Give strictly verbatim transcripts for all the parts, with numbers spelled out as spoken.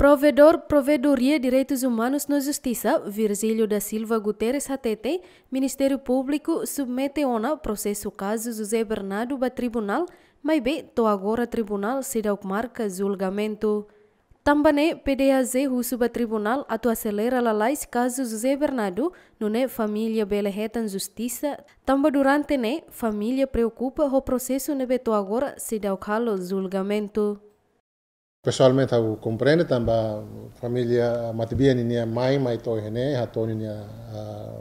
Provedór Provedoria Direitus Umanus no Justisa, Virgílio da Silva Guterres hatete, Ministériu Públiku submete ona prosesu kazu José Bernardo ba tribunál, maibé to'o agora tribunál seidauk marka julgamentu. Tanba ne'e, P D H J husu ba tribunál atu aselera lalais kazu José Bernardo, nune'e família bele hetan justisa, tanba durante ne'e família preokupa ho prosesu ne'ebé to'o agora seidauk halo julgamentu. Pesoalmente, ha'u komprende tanba família matebian ninia mai, mai to'o iha ne'e, hato'o ninia, ah,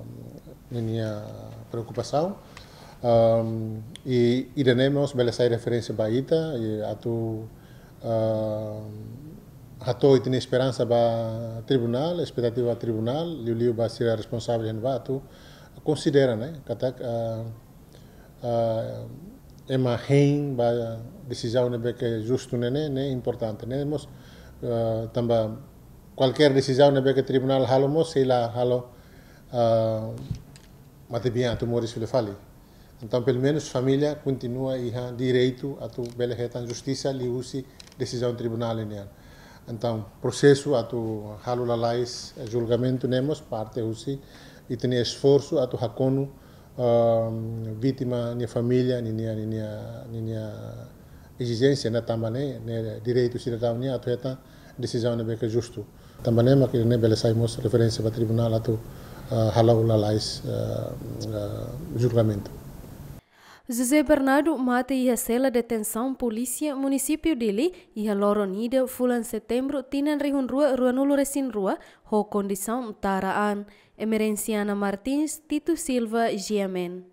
ninia preokupasaun. Ahm, i, ida-ne'e mós bele sai referénsia ba ita, i atu, ahm, hato'o ita-nia esperansa ba tribunál, espetativa tribunál, liuliu ba sira responsavel iha ne'ebá atu konsidera, ne'e, katak, ah, ah, ema hein ba desizaun ne'ebé ke justu ne'e, ne'e, ne'e importante, ne'e mós, ah, tanba kualkér desizaun ne'ebé ke tribunál halo mós, sei la halo, ah, matebian atu moris fila fali. Entaun, pelumenus família kontinua iha direitu atu bele hetan justisa liuhusi desizaun tribunál nian. Entaun, prosesu atu halo lalais, eh, julgamentu ne'e mós parte husi ita-nia esforsu atu hakonu, ahm, vítima nia família, ninia, ninia, ninia ezijénsia, ne'e tanba ne'e, ne'e direitu sidadaun nian atu hetan desizaun ne'ebé ke justu. Tanba ne'e mak ida-ne'e bele sai mós referénsia ba tribunál atu, ah, halo lalais, ah, ah, julgamentu. José Bernardo mate iha sela detensaun polísia Munisípiu Dili iha loron ida fulan Setembru tinan rihun rua ruanulu resin rua ho kondisaun tara an. Emerenciana Martins, Tito Silva, G M N.